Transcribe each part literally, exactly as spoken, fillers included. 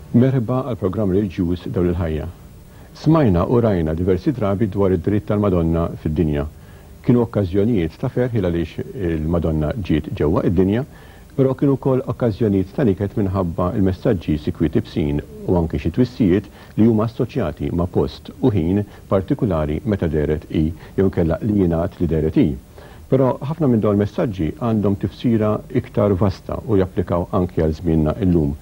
Merħba għal programm reliġjuż Dawl il-Ħajja. Smajna u rajna diversi drabi dwar id-dritt tal-Madonna fid-dinja. Kienu okkażjonijiet ta' ferħ għaliex il-Madonna ġiet ġewwa id-dinja, però kienu wkoll okkażjonijiet ta' niket minħabba il-messaġġi sikwit ibsin u anke xi twissijiet li huma assoċjati ma' post u ħin partikulari meta dehret hi jew inkella li jingħad li dehret hi. Però ħafna minn dawn il-messaġġi għandhom tifsira iktar vasta u japplikaw anke għal żmienna illum.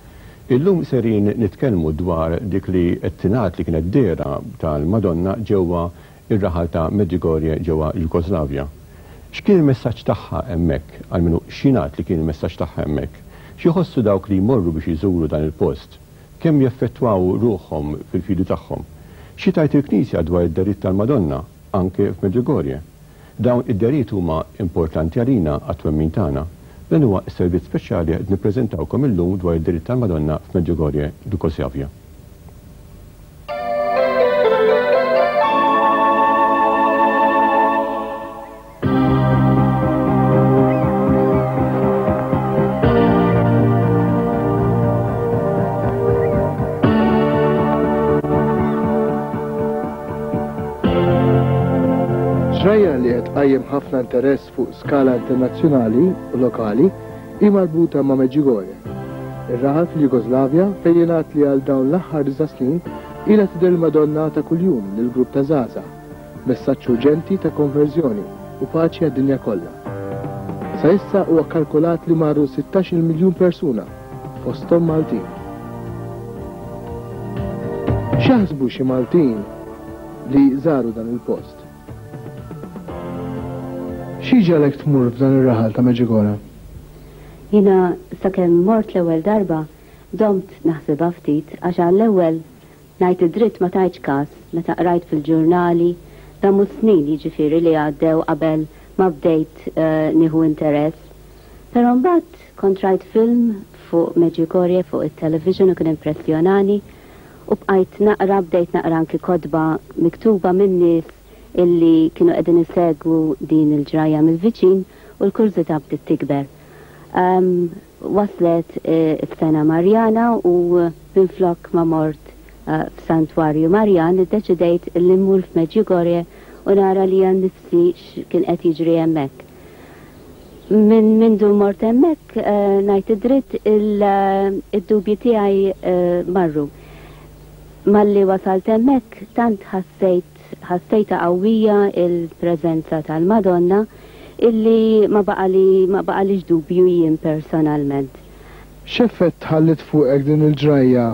Illum serin nitkellmu dwar dik li qed tingħad li kienet dehra tal-Madonna ġewwa ir-raħal ta' Medjugorje ġewwa Jugoslavja. X'kien il-messaġġ tagħha hemmhekk, almenu x'jingħad li kien il-messaġġ tagħha hemmhekk? X'iħossu dawk li jmorru biex iżuru dan il-post? Kemm jeffettwaw ruħhom fil-fidi tagħhom? Xi tgħid il-Knisja dwar id-dehriet tal-Madonna anke f'Medjugorje? Dawn id-dehriet huma importanti għalina għat-twemmin tagħna. Dan huwa s-servizz speċjali qed nippreżentawkom illum dwar id-dehriet tal-Madonna f'Medjugorje, Jugoslavja. Ġrajja li qed tqajjem ħafna interess fuq skala internazzjonali u lokali hi marbuta ma' Medjugorje. Ir-raħal fil-Jugoslavja fejn jingħad li għal dawn l-aħħar disa' snin ilha tidher il-Madonna ta' kuljum lil grupp ta' żgħażagħ, messaġġ urġenti ta' konverżjoni u paċi għad-dinja kollha. Sa issa huwa kalkulat li marru sittax-il miljun persuna, fosthom Maltin. X'jaħsbu xi Maltin li żaru dan il-post? Xi ġalek tmur f'dan ir-raħal ta' Medjugorje? Jiena sakemm mort l-ewwel darba domt naħsibha ftit għax għall-ewwel ngħid id-dritt ma tajtx każ meta qrajt fil-ġurnali damu snin jiġifieri li għaddew qabel ma bdejt, eh, nieħu interess. Però mbagħad kont rajt film fuq Medjugorje fuq it-television u kien impressjonani u bqajt naqra, bdejt naqra anki kotba miktuba minn nies illi kienu qegħdin isegwu din il-ġrajja mill-viċin u l-kurżità bdiet tikber. Em, waslet, eh, is-sena Marjana u minflok ma mort, eh, f'Santwarju Marjan iddeċidejt li mmur f'Medjugorje u nara li għan nifsi x'kien qed jiġri hemmhekk. Min mindu mort hemmhekk, eh, ngħid id-dritt il-, id-dubji tiegħi, eh, marru. Malli wasalt hemmhekk tant ħassejt, ħassejta qawwija il-preżenza tal-Madonna illi ma baqali, ma baqalix dubju jien personalment. X'effett ħallit fuqek din il-ġrajja,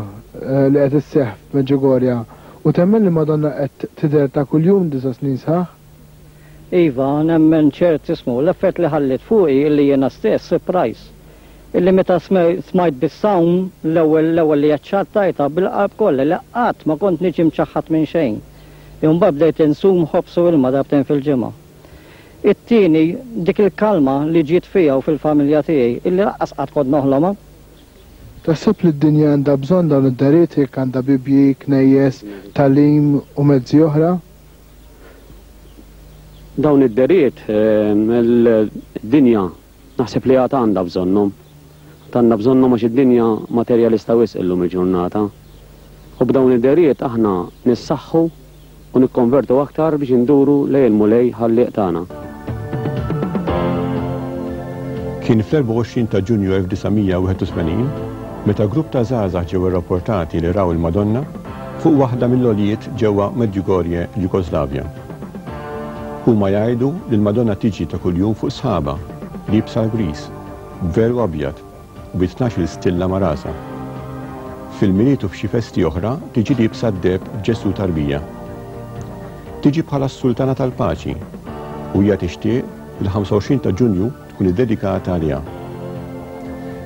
eh, li qed isseħħ f'Medjugorje u temmen li Madonna qed tidher ta' kuljum disa' snin sħaħ? Iva, nemmen ċert ismu, l-effett li ħallit fuqi illi jiena stess surprise. Illi meta sme-, smajt bis-sawm l-ewwel, l-ewwel li aċċettajtha bil-qalb kollha li qatt ma kont niġi mċaħħad minn xejn. Imbagħad bdejt insum ħobż u ilma darbtejn fil-ġimgħa. It-tieni dik il-kalma li ġiet fija u fil-familja tiegħi illi lanqas qatt kont noħlomha. Taħseb li d-dinja għandha bżonn dawn id-dehriet jekk għandha bibji, knejjes, tagħlim u mezzi oħra? Dawn id-dehriet, ehm, il-dinja naħseb li għad għandha bżonnhom. Għandha bżonnhom għax id-dinja materjalista wisq illum il-ġurnata. U b'dawn id-dehriet aħna nissaħħu u nikkonvertu aktar biex induru lejn il-Mulej ħallieq tagħna. Kien fl-erbgħa u għoxrin ta' Ġunju elf disa' mija wieħed u tmenin meta grupp ta' żgħażagħ ġew irrapportati li raw il-Madonna fuq waħda mill-għoljiet ġewwa Medjugorje, Jugoslavja. Huma jgħidu li l-Madonna tiġi ta' kuljum fuq sħaba, liebsa l-gris, b'velu abjad u bi tnax-il stilla ma' rasha. Fil-Milied u f'xi festi oħra tiġi liebsa d-deheb b'Ġesù tarbija. Tiġi bħala s-Sultana tal-Paċi u hija tixtieq li l-ħamsa u għoxrin ta' Ġunju tkun iddedikata għaliha.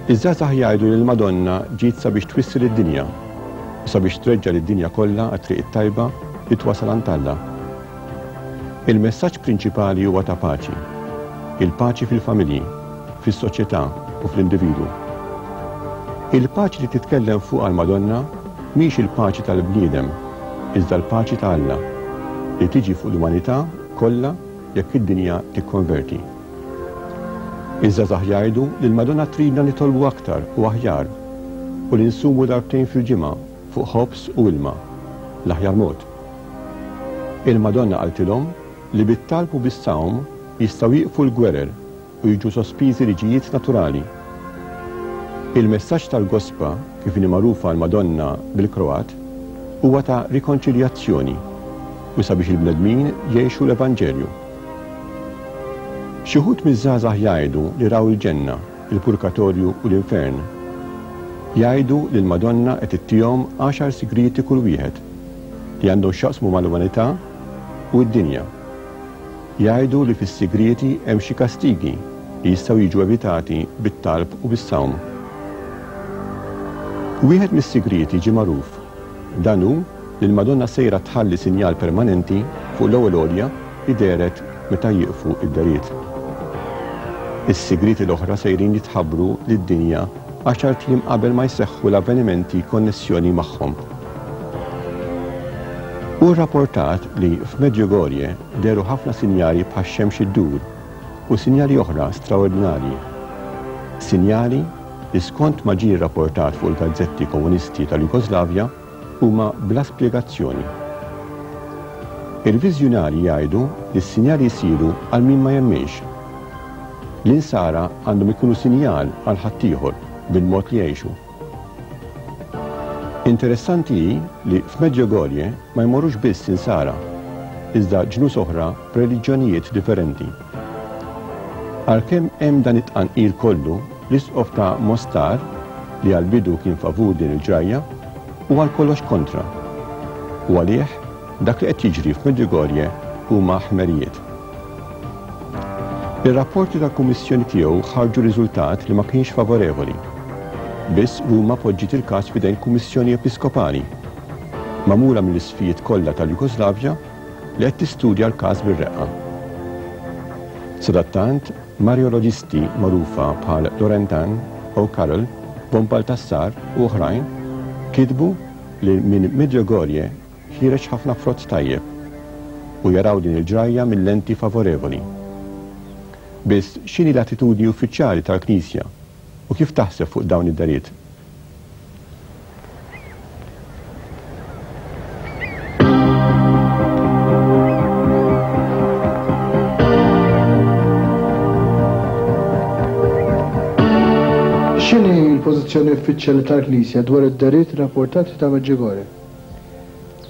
Iż-żgħażagħ jgħidu li l-Madonna ġiet sabiex twissi lid-dinja u sabiex treġġa' lid-dinja kollha għat-triq it-tajba li twasal għand Alla. Il-messaġġ prinċipali huwa ta' paċi. Il-paċi fil-familji, fis-soċjetà u fl-individwu. Il-paċi li titkellem fuqha l-Madonna mhix il-paċi tal-bniedem, iżda l-paċi ta' Alla li tiġi fuq l-umanità kollha jekk id-dinja tikkonverti. Iż-żgħażagħ jgħidu li l-Madonna tridna nitolbu aktar u aħjar u li nsumu darbtejn fil-ġimgħa fuq ħobż u ilma, l-aħjar mod. Il-Madonna qaltilhom li bit-talb u bis-sawm jistgħu jieqfu l-gwerer u jiġu sospiżi liġijiet naturali. Il-messaġġ tal-Gospa, kif inhi magħrufa l-Madonna bil-Kroat, huwa ta' rikonċiljazzjoni u sabiex il-bnedmin jgħixu l-Evanġelju. Xi wħud miż-żgħażagħ jgħidu li raw il-ġenna, il-purgatorju u l-infern. Jgħidu li l-Madonna qed ittihom għaxar sigrieti kull wieħed li għandhom x'jaqsmu mal-umanità u d-dinja. Jgħidu li fis-sigrieti hemm xi kastigi li jistgħu jiġu evitati bit-talb u bis-sawm. Wieħed mis-sigrieti ġie magħruf. Dan hu li l-Madonna sejra tħalli sinjal permanenti fuq l-ewwel għolja li dehret meta jieqfu id-deriet. Is-sigrieti l-oħra sejrin jitħabbru lid-dinja għaxart ijiem qabel ma jseħħu l-avvenimenti konnessjoni magħhom. Hu rrapportat li f'Medjugorje dehru ħafna sinjali bħax-xemx iddur u sinjali oħra straordinarji. Sinjali li skont ma ġie rrapportat fuq il-gazzetti komunisti tal-Jugoslavja huma bla spjegazzjoni. Il-viżjonarji jgħidu li s-sinjali jsiru għal min ma jemminx. L-insara għandhom ikunu sinjal għal ħaddieħor bil-mod li jgħixu. Interessanti hi li f'Medjugorje ma jmorrux biss insara, iżda ġnus oħra b'reliġjonijiet differenti. Għalkemm hemm dan it-tqanqil kollu, l-isqof ta' Mostar, li għall-bidu kien favur din il-ġrajja, u għal kollox kontra. U għalih dak li qed jiġri f'Medjugorje huma ħmerijiet. Ir-rapporti tal-Kummissjoni tiegħu ħarġu riżultat li ma kienx favorevoli. Biss Ruma poġġiet il-każ f'idejn Kummissjoni Episkopali, magħmula mill-isfijiet kollha tal-Jugoslavja li qed tistudja l-każ bir-reqqa. Sadattant, Marioloġisti magħrufa bħal Lorentan, O'Carroll, Von Baltassar u oħrajn kitbu li minn Medjugorje ħiereġ ħafna frott tajjeb u jaraw din il-ġrajja mill-lenti favorevoli. Biss x'inhi l-attitudni uffiċjali tal-Knisja u kif taħseb fuq dawn id-dariet? X'inhi l-pożizzjoni uffiċjali tal-Knisja dwar id-dariet rapportati ta' Medjugorje?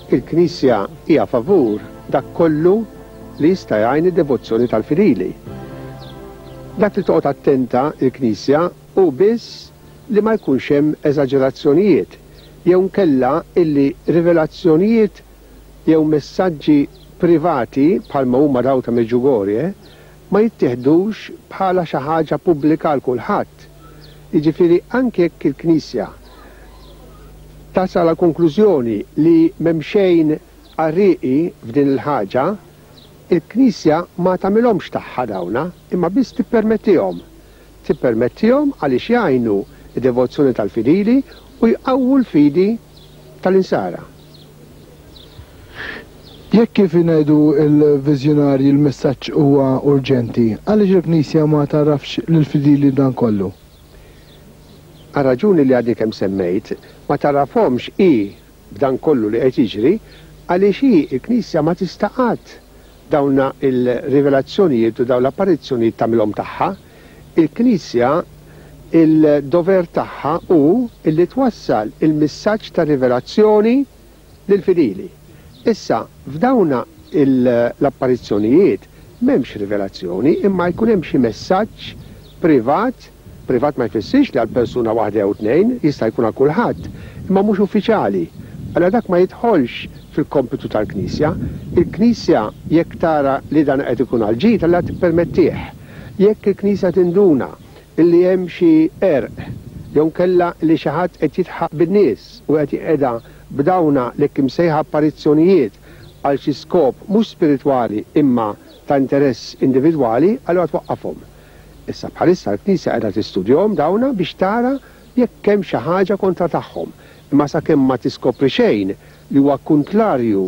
Il-Knisja hija favur dak kollu li jista' jgħin id-devozzjoni tal-fidili. Dak li toqgħod attenta il-Knisja hu biss li ma jkunx hemm eżaġerazzjonijiet jew nkella illi rivelazzjonijiet jew messaġġi privati bħalma huma daw ta' Medjugorje ma jittieħdux bħala xi ħaġa pubblika għal kulħadd. Jiġifieri anke jekk il-Knisja tasal għal konklużjoni li m'hemm xejn qarrieqi f'din il-ħaġa, il-Knisja ma tagħmilhomx tagħha dawna, imma biss tippermettihom. Tippermettihom għaliex jgħinu d-devozzjoni tal-fidili u jqawwu l-fidi tal-insara. Jekk kif ingħidu l-viżjonarji l-messaġġ huwa urġenti, għaliex il-Knisja ma tarafx lill-fidili dan kollu? Għal raġuni li għadni kemm semmejt, ma tarafhomx hi b'dan kollu li qed jiġri, għaliex hi l-Knisja ma tista' qatt dawna il-rivelazzjonijiet u dawn l-apparizzjonijiet tagħmilhom tagħha. Il-Knisja il-dover tagħha hu illi twassal il-messaġġ ta' rivelazzjoni lill-fidili. Issa f'dawna l-apparizzjonijiet m'hemmx rivelazzjoni, imma jkun hemm xi messaġġ privat. Privat ma jfissirx li għal persuna waħda jew tnejn, jista' jkun għal kulħadd, imma mhux uffiċjali. Allura dak ma jidħolx fil-kompitu tal-Knisja. Il-Knisja jekk tara li dan qed ikun għal ġid, allura tippermettih. Jekk il-Knisja tinduna illi hemm xi qerq jew nkella li xi ħadd qed jitħaq bin-nies u qed jqiegħda b'dawna li hekk imsejħa apparizzjonijiet għal xi skop mhux spiritwali imma ta' interess individwali, allura twaqqafhom. Issa bħalissa l-Knisja qiegħda tistudjahom dawna biex tara jekk hemm xi ħaġa kontra tagħhom. Imma sakemm ma tiskopri xejn li huwa kontlarju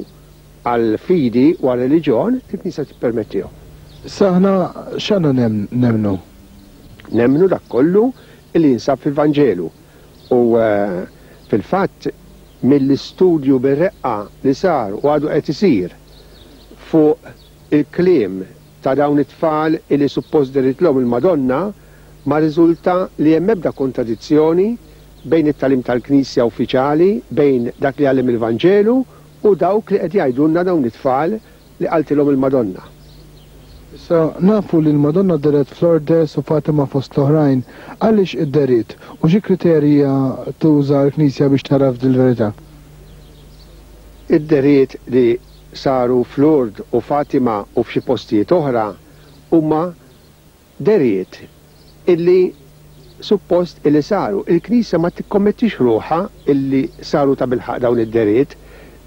għall-fidi u għar-reliġjon, il-Knisja tippermettihom. Issa aħna x'għandna nemmnu? Nemmnu dak kollu li jinsab fil-Vanġelu. U fil-fatt mill-istudju bir-reqqa li sar u għadu qed isir fuq il-kliem ta' dawn it-tfal illi suppost deritlhom il-Madonna, ma riżulta li hemm ebda kontradizzjoni bejn it-tagħlim tal-Knisja uffiċjali, bejn dak li għallem il-Vanġelu u dawk li qed jgħidulna dawn it-tfal li qaltilhom il-Madonna. Issa nafu li l-Madonna deret f'Lourdes u Fatima fost l-oħrajn, għaliex idderiet u xi kriterja tuża l-Knisja biex taraf dil-verità? Id-deriet li saru f'Lourdes u Fatima u f'xi postijiet oħra huma deriet illi suppost illi saru. Il-Knisja ma tikkommettix ruħha illi saru ta' bilħaq dawn id-deriet,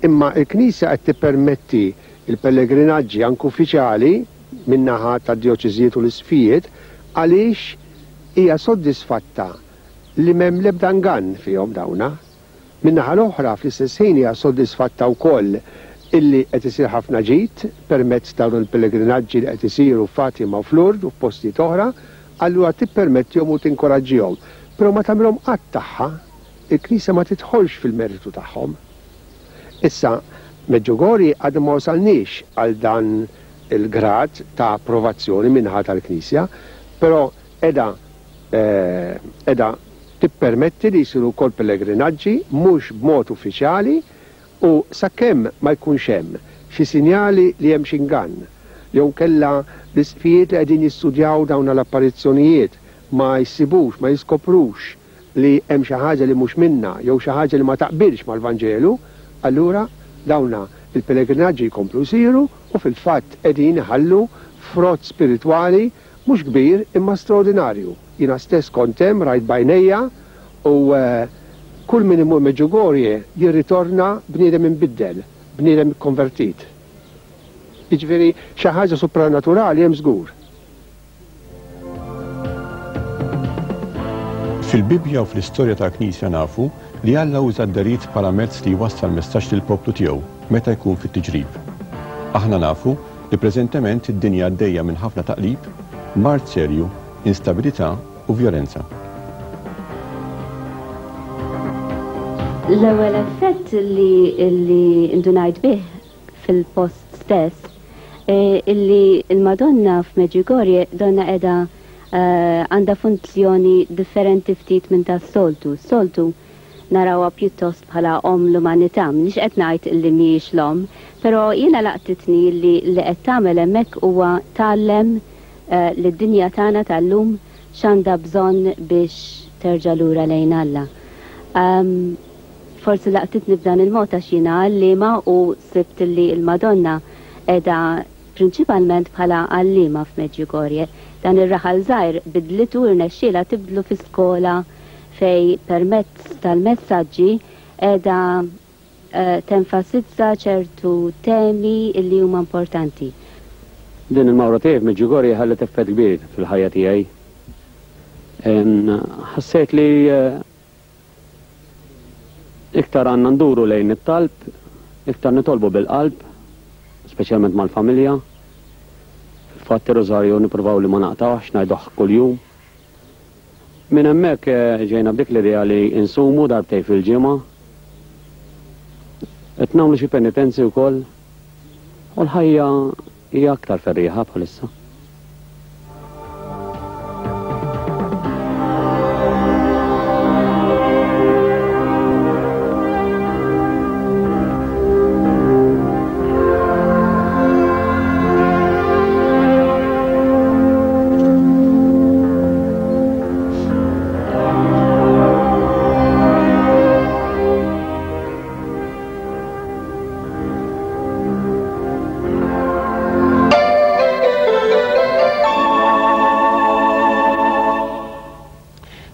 imma il-Knisja qed tippermetti il-pellegrinaġġi anke uffiċjali min-naħa tad-djoċeżijiet u l-isqfijiet għaliex hija soddisfatta li m'hemm l-ebda ngann fihom dawna. Min-naħa l-oħra fl-istess ħin hija soddisfatta wkoll illi qed isir ħafna ġid permezz dawn il-pellegrinaġġi li qed isiru f'Fatima u f'Lourdes u f'postijiet oħra, allura tippermettihom u tinkoraġġihom. Però ma tagħmilhom qatt tagħha, il-Knisja ma tidħolx fil-meritu tagħhom. Issa, Medjugorje għadu ma wasalniex għal dan il-grad ta' approvazzjoni minnaħa tal-Knisja, però edha, eh, edha tippermetti li jsiru wkoll pellegrinaġġi mhux b'mod uffiċjali u sakemm ma jkunx hemm xi sinjali li hemm xi ngann, jew kellha l-isqfijiet li qegħdin jistudjaw dawn l-apparizzjonijiet ma jsibux, ma jiskoprux li hemm xi ħaġa li mhux minna jew xi ħaġa li ma taqbilx mal-Vanġelu, allura dawna il-pellegrinaġġi jkomplu jsiru u fil-fatt qegħdin iħallu frott spiritwali mhux kbir imma straordinarju. Jiena stess kont hemm rajt bajnejja u, eh, kull min imur Medjugorje jirritorna bniedem imbiddel, bniedem ikkonvertit. Jiġifieri xi ħaġa supranaturali hemm żgur. Fil-Bibbja u fl-istorja tal-Knisja nafu li Alla uża d-deriet bħala mezz li jwassal messaġġ lill-poplu tiegħu meta jkun fit-tiġrib. Aħna nafu li preżentement id-dinja għaddejja minn ħafna taqlib, mard serju, instabilità u vjolenza. L-ewwel effett li, li indunajt bih fil-post stess, eh, illi il-Madonna f'Medjugorje donna qiegħda, eh, għandha funzjoni differenti ftit minn tas-soltu. Soltu narawha pjuttost bħala om l-umanità, m'iniex qed ngħid illi mhijiex l-om, però jiena laqtitni li li qed tagħmel hemmhekk huwa tgħallem, eh, lid-dinja tagħna tal-lum x'għandha bżonn biex terġa' lura lejn Alla. Ehm, forsi laqtitni b'dan il-mod għax jiena għalliema u sibt li l-Madonna qiegħda prinċipalment bħala għalliema f'Medjugorje. Dan ir-raħal żgħir bidlitu rnexxielha tibdlu fi skola fej permezz tal-messaġġi qiegħda, eh, tenfasizza ċertu temi li huma importanti. Din il-mawra tiegħi f'Medjugorje ħallet effett kbir fil-ħajja tiegħi. Ħassejt li, eh, iktar għandna nduru lejn it-talb, iktar nitolbu bil-qalb, speċjalment mal-familja. Fil-fatt ir-Rożarju nippruvaw li ma naqtawx, ngħiduh kuljum. Minn hemmhekk, eh, ġejna b'dik l-idea li insumu darbtejn fil-ġimgħa. Qed nagħmlu xi penitenzi wkoll u l-ħajja hija aktar ferrieħa bħalissa.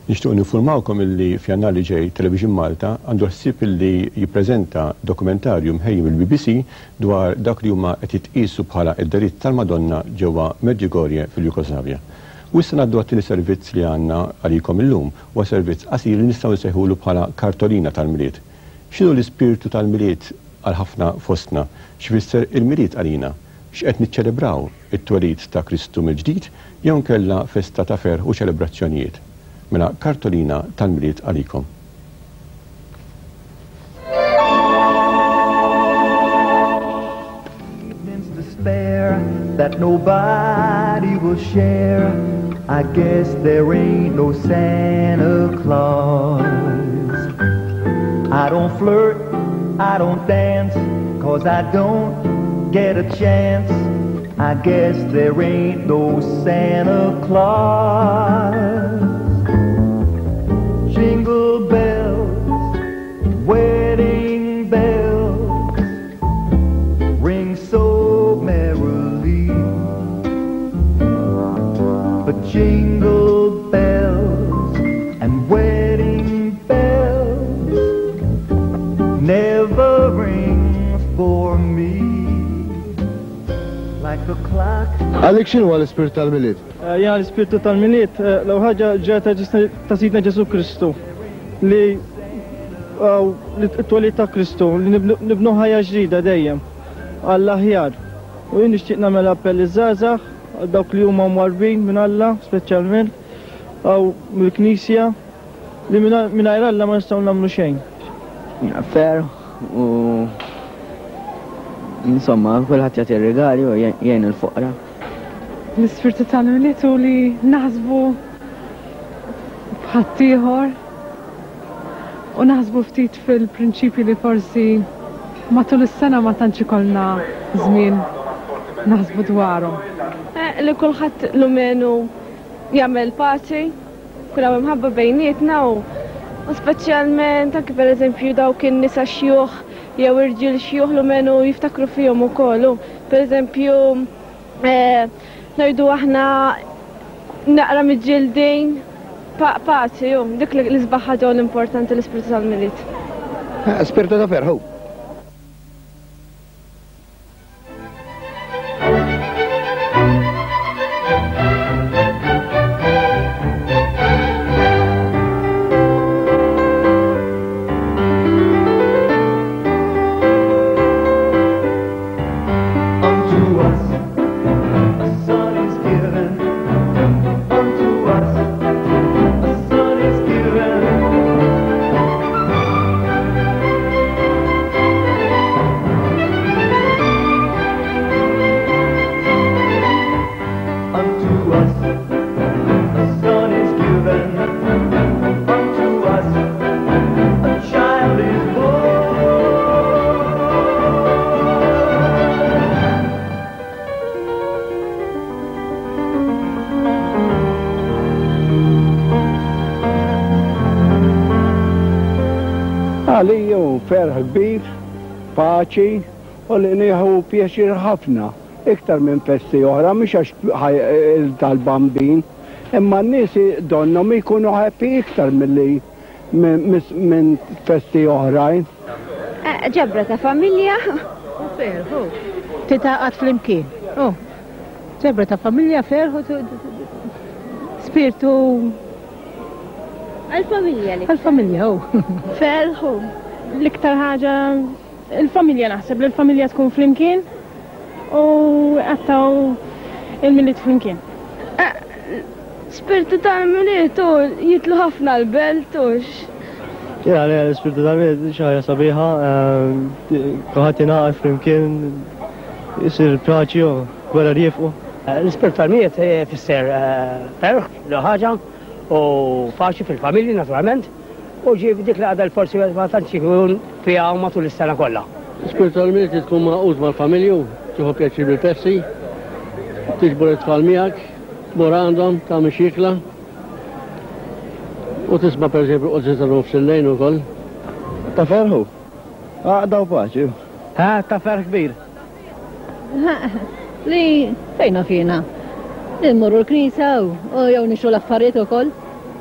Nixtieq ninformawkom illi f'Jannar li ġej Television Malta għandu ħsieb illi jippreżenta dokumentarju mħejji mill-B B C dwar dak li huma qed jitqiesu bħala id-deritt tal-Madonna ġewwa Medjugorje fil-Jugoslavja. U issa ngħaddu għat-tieni servizz li għandna għalikom illum, huwa servizz qasir li nistgħu nsejħulu bħala kartolina tal-Milied. X'inhu l-ispirtu tal-Milied għal ħafna fostna? X'fisser il-Milied għalina? X'qed niċċelebraw it-twelid ta' Kristu mill-ġdid jew nkella festa ta' ferħ u ċelebrazzjonijiet? Mela kartolina tal-Milied għalikom. that nobody will share. I guess there ain't no Santa Claus. I don't flirt, I don't dance, 'cause I don't get a chance. I guess there ain't no Santa Claus. Jingle bells, wedding bells, ring so merrily. But jingle bells and wedding bells never ring for me. Like the clock. Għalik x'inhu l-ispirtu tal-Milied? Jena l-ispirtu tal-Milied, l-ewwel ħaġa ġrata ta' Sidna Ġesu Kristu, li t-twelid ta' Kristu, li nibnu ħajja ġdida dejjem, għall-aħjar. U jien nixtieq nagħmel appell iż-żgħażagħ għal dawk li huma mwarrbin minn Alla, speċjalment, aw mill-Knisja, li mingħajr Alla ma nistgħu nagħmlu xejn. Ferħ u insomma, kulħadd jagħti r-rigali u jgħin il-foqra. L-ispirtu tal-Milied hu li naħsbu b'ħaddieħor u naħsbu ftit fil-prinċipji li forsi matul is-sena ma tantx ikollna żmien naħsbu dwarhom. Li kulħadd lumenu jagħmel paċi, kull hawn imħabba bejnietna u speċjalment anke pereżempju dawk in-nisa xjuħ jew irġiel xjuħ lumenu jiftakru fihom ukoll. Pereżempju ngħidu aħna naqra miġġildin paċi, dik l-isbaħ ħaġa l-importanti l-ispirtu tal-Milied. Spirtu ta' ferħu. Għalija hu ferħ kbir, paċi, u li nieħu pjaċir ħafna, iktar minn festi oħra, mhux għax tal-Bambin, imma n-nies donnhom ikunu happy iktar milli minn festi oħrajn. Ġabra ta' familja u ferħu. Titaqgħad flimkien. Ġabra ta' familja, ferħu, spirtu. Għal-familja li. Għal-familja, u. Ferħu. L-iktar ħaġa, il-familja naħseb, li l-familja tkun flimkien u għattaw il-Milied flimkien. Spirtu tal-Milied u jitlu ħafna l-belt u. Jena li l-spirtu tal-Milied xi ħaġa sabiħa, kulħadd jingħaqad flimkien, jisir paċi u gwerra jifqu. L-ispirtu tal-Milied fisser ferħ, l ħaġa, u paċi fil-familji naturalment, u ġie dik li għadha forsi ma tantx ikun fiha matul is-sena kollha. Spirtu tal-Milied tkun magħqud mal-familju, tieħu pjaċir bil-festi, tiġbor it-tfal miegħek, tmur għandhom, tagħmel xi ikla, u tisma' pereżempju qudsi ta' nofs il-lejn ukoll. Ta' ferħu, għaqda u paċi. Ha, ta' ferħ kbir. Li fejna fina. Immorru l-knisja u jew nixtru l-affarijiet ukoll,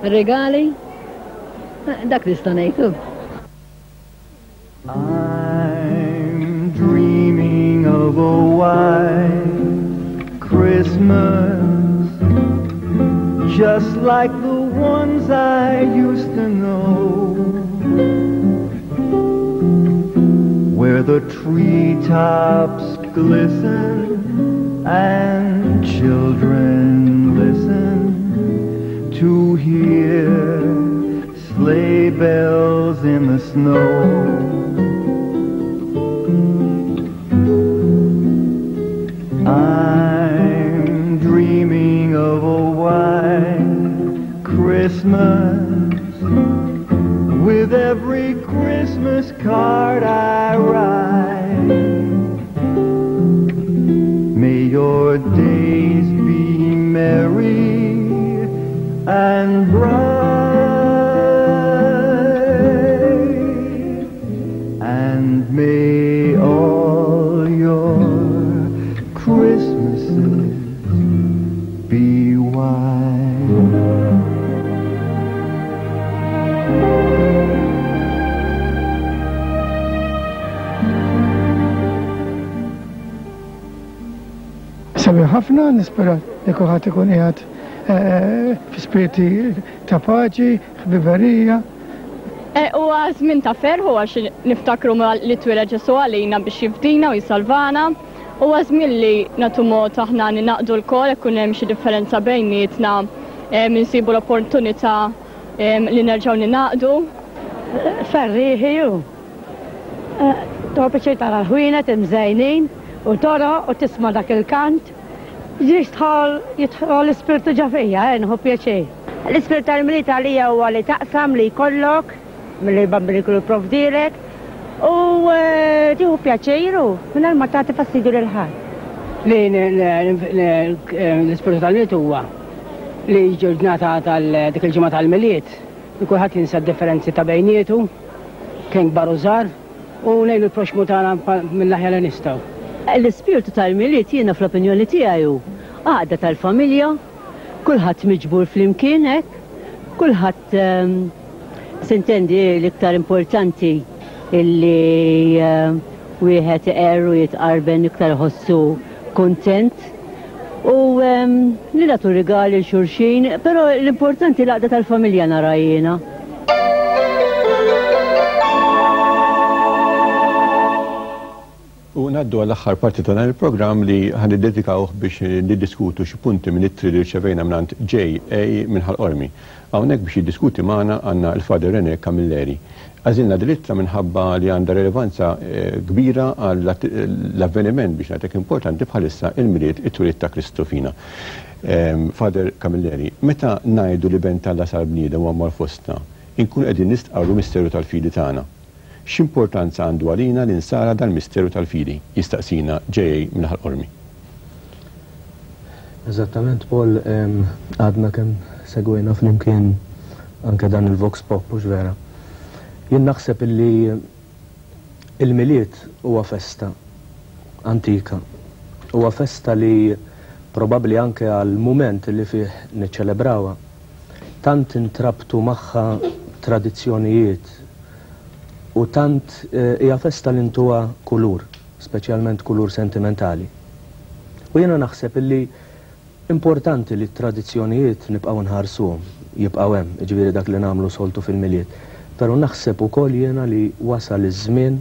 regali. Dak li sta ngħidu. I'm dreaming of a white Christmas, just like the ones I used to know, where the treetops glisten and children listen to hear sleigh bells in the snow. I'm Christmas with every Christmas card I write. May your days be merry and bright, and may all your Christmases be white. Sabiħ ħafna, nispera li kulħadd ikun qiegħed fi spirti ta' paċi, ħbiberija. Huwa żmien ta' ferħ għax niftakru li twieled Ġesù għalina biex jifdina u jsalvana. Huwa żmien li nagħtu mod aħna ninaqdu lkoll ikun hemm xi differenza bejnietna, insibu l-opportunità li nerġgħu ninaqdu. Ferrieħi hu. Torbiċi tara l-ħwienet imżejnin u toro u tisma' dak il-kant. Jidħol jidħol l-ispirtu ġa fija, nieħu pjaċir. L-ispirtu tal-Milied għalija huwa li taqsam li jkollok, milli l-Bambin ikun jipprovdilek, u tieħu pjaċir u mingħajr ma tagħti fastidju lil ħadd. Li l-ispirtu tal-Milied huwa li ġurnata tal dik il-ġimgħa tal-Milied, li kulħadd jinsa d-differenzi ta' bejnietu, kien kbar u żgħar, u ngħidu l-proxmu tagħna mill-aħjar li nistgħu. L-ispirtu tal-Milied jiena fl-opinjoni tiegħi hu għaqda tal-familja, kulħadd miġbur flimkien hekk, kulħadd sintendi l-iktar importanti illi wieħed iqer u jitqarben iktar iħossu kuntent u li nagħtu rigali l xulxin, però l-importanti l-għaqda tal-familja nara jiena. U ngħaddu għall-aħħar parti ta' dan il-programm li ħan niddedikawh biex niddiskutu xi punti minn ittri li rċevejna mingħand J A minn Ħal Qormi. Hawnhekk biex jiddiskuti magħna għandna l-Father René Camilleri. Għażilna din l-ittra minħabba li għandha relevanza kbira għall-avveniment biex ngħidlek importanti bħalissa il-Milied it-twelid ta' Kristu fina. Father Camilleri, meta ngħidu li ben Alla sar bniedem u għammar fostna, inkunu qegħdin nistqarru misteru tal-fidi tagħna. X'importanza għandu għalina li nsara dal-misteru tal-fidi? Jistaqsina J A minn Ħal Qormi. Eżattament, Paul, għadna kemm segwejna flimkien anke dan il-Vox Pop, mhux vera. Jien naħseb illi il-Milied huwa festa antika. Huwa festa li probabbli anke għal mument li fih niċċelebrawha. Tant intrabtu magħha tradizzjonijiet u tant hija festa li ntuha kulur, speċjalment kulur sentimentali. U jiena naħseb illi importanti li t-tradizzjonijiet nibqgħu nħarsuhom, jibqgħu hemm, jiġifieri dak li nagħmlu soltu fil-Milied. Però naħseb ukoll jiena li wasal iż-żmien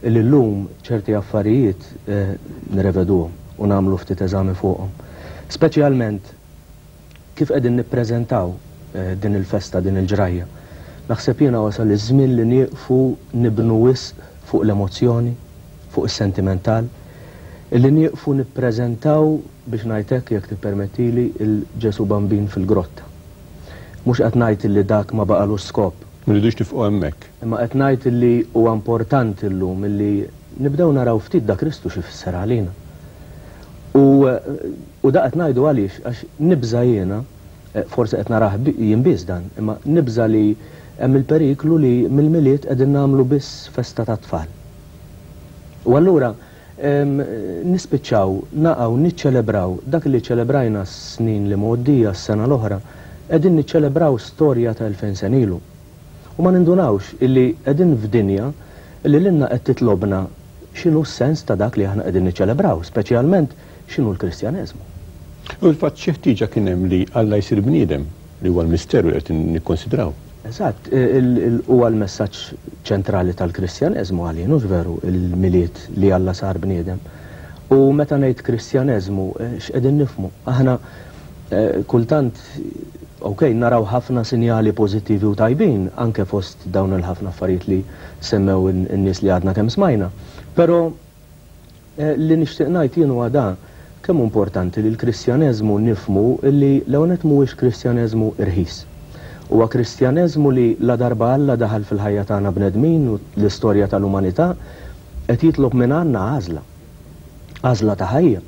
li llum ċerti affarijiet nirreveduhom u nagħmlu ftit eżami fuqhom. Speċjalment kif qegħdin nippreżentaw din il-festa, din il-ġrajja. Naħseb jiena wasal iż-żmien li nieqfu nibnu wisq fuq l-emozzjoni, fuq is-sentimental, li nieqfu nippreżentaw biex ngħid hekk jekk tippermettili il-Ġesu Bambin fil-grotta. Mhux qed ngħid li dak ma baqalux skop. Ma rridux nifqu hemmhekk. Imma qed ngħid li huwa importanti llum illi nibdew naraw ftit da Kristu xi fisser għalina. U, u da qed ngħidu għaliex għax nibża' jiena, forsi qed narah jien biss dan, imma nibża' li hemm il-periklu li mill-Milied qegħdin nagħmlu biss festa ta' tfal. U allura nispiċċaw naqgħu niċċelebraw dak li ċelebrajna s-snin li mgħoddija s-sena l-oħra, qegħdin niċċelebraw storja ta' elfejn sen ilu. U ma nindunawx illi qegħdin f'dinja illi lilna qed titlobna x'inhu s-sens ta' dak li aħna qegħdin niċċelebraw, speċjalment x'inhu l-Kristjaneżmu. U l-fatt xi ħtieġa kien hemm li Alla jsir bniedem, li huwa l-misteru li qed nikkonsidraw. Eżatt, huwa l-messaġġ ċentrali tal-Kristjaneżmu għalina, mhux veru il-Milied li Alla sar bniedem. U meta ngħid Kristjaneżmu, x'qegħdin nifhmu? Aħna kultant, ok, naraw ħafna sinjali pożittivi u tajbin anke fost dawn il-ħafna affarijiet li semmew in-nies li għadna kemm smajna. Però li nixtieq ngħid jien huwa dan, kemm importanti li l-Kristjaneżmu nifhmu li l-ewwel nett mhuwiex Kristjaneżmu irħis. Huwa Kristjaneżmu li ladarba Alla daħal fil-ħajja tagħna bnedmin u l-istorja tal-umanità qed jitlob minn għandna għażla. Għażla ta' ħajja.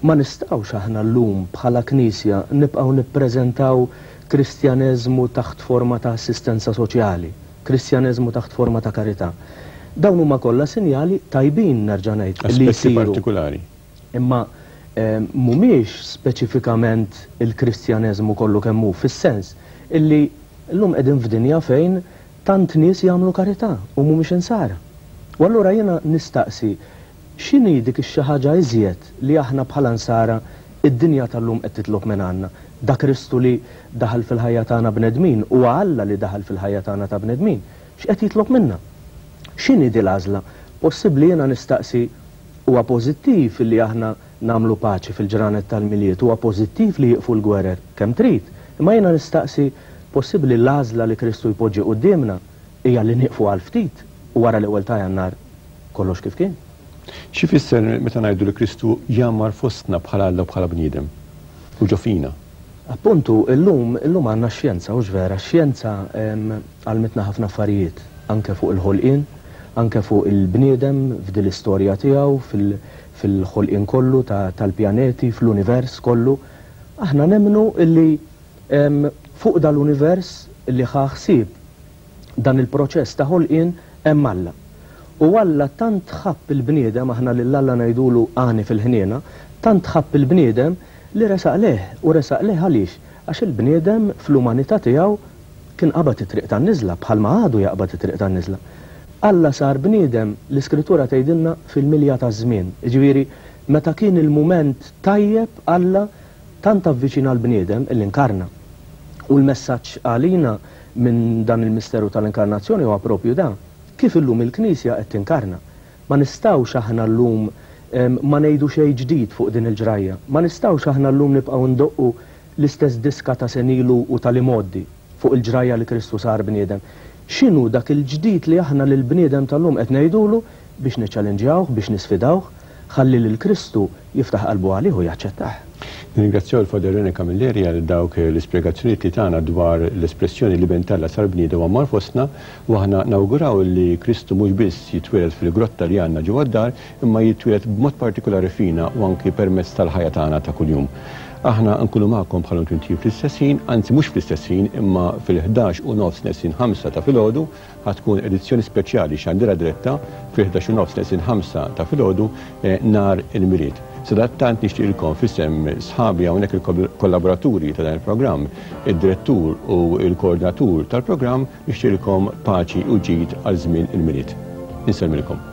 Ma nistgħux aħna llum bħala Knisja nibqgħu nippreżentaw Kristjaneżmu taħt forma ta' assistenza soċjali, Kristjaneżmu taħt forma ta' karità. Dawn huma kollha sinjali tajbin, nerġa' ngħid, li Aspetti jsiru. partikolari. Imma mhumiex speċifikament il-Kristjaneżmu kollu kemm hu, fis-sens illi llum qegħdin f'dinja fejn tant nies jagħmlu karità u mhumiex insara. U allura jiena nistaqsi x'inhi dik ix-xi ħaġa iżjed li aħna bħala nsara id-dinja tal-lum qed titlob minn għandna. Da Kristu li daħal fil-ħajja tagħna bnedmin u Alla li daħal fil-ħajja tagħna ta' bnedmin, x'qed jitlob minna? X'inhi di l-għażla? Possibbli jiena nistaqsi huwa pożittiv li aħna nagħmlu paċi fil-ġranet tal-Milied, huwa pożittiv li jieqfu l-gwerer kemm trid, imma jiena nistaqsi possibbli l-għażla li Kristu jpoġġi quddiemna hija li nieqfu għal ftit u wara l-ewwel ta' Jannar kollox kif kien. X'ifisser meta ngħidu li Kristu jgħammar fostna bħala Alla u bħala bniedem u ġo fina? Appuntu, illum, illum għandna x-xjenza, hux vera, x-xjenza għallmitna ħafna affarijiet, anke fuq il-ħolqien, anke fuq il-bniedem f'din l-istorja tiegħu, fil-ħolqien kollu tal-pjaneti, fl-univers kollu. Aħna nemmnu illi fuq dal-univers li ħa ħsieb dan il-proċess ta' ħolqien hemm Alla. U Alla tant ħabb il-bniedem, aħna lil Alla ngħidulu għani fil-ħniena, tant ħabb il-bniedem li resaq leh, u resaq leh għaliex? Għax il-bniedem fl-umanità tiegħu kien qabad it-triq tan-niżla, bħalma għadu jaqbad it-triq tan-niżla. Alla sar bniedem, l-Iskrittura tgħidilna fil-milja taż-żmien. Jiġifieri meta kien il-mument tajjeb Alla tant avviċina l-bniedem illi inkarna. U l-messaġġ għalina minn dan il-misteru tal-inkarnazzjoni huwa propju dan. Kif illum il-Knisja qed tinkarna? Ma nistgħux aħna llum ma ngħidu xejn ġdid fuq din il-ġrajja. Ma nistgħux aħna llum nibqgħu ndoqqu l-istess diska ta' senilu u tal-imoddi fuq il-ġrajja li Kristu sar bniedem. X'inhu dak il-ġdid li aħna lill-bniedem tal-lum qed ngħidulu biex niċċallenġjawh, biex nisfidawh, ħalli lil Kristu jiftaħ qalbu għalih u jaċċettah. Nirringrazzjaw il-Father René Camilleri għal dawk l-ispjegazzjonijiet li tagħna dwar l-espressjoni li ben t'Alla sar bniedem u għammar fostna, u aħna nawguraw li Kristu mhux biss jitwieled fil-grotta li għandna ġewwa d-dar, imma jitwieled b'mod partikolari fina u anki permezz tal-ħajja tagħna ta' kuljum. Aħna nkunu magħkom bħal inti fl-istess ħin, anzi mhux fl-istess ħin, imma fil-ħdax u nofs neqsin ħamsa ta' filgħodu ħatkun edizzjoni speċjali xandira diretta fil-ħdax u nofs neqsin ħamsa ta' filgħodu nhar il-Milied. Sadattant nixtieqilkom f'isem sħabi hawnhekk il-kollaboraturi ta' dan il-programm, id-direttur u l-koordinatur tal-programm, nixtieqilkom paċi u ġid għal żmien il-Milied. Insellmilkom.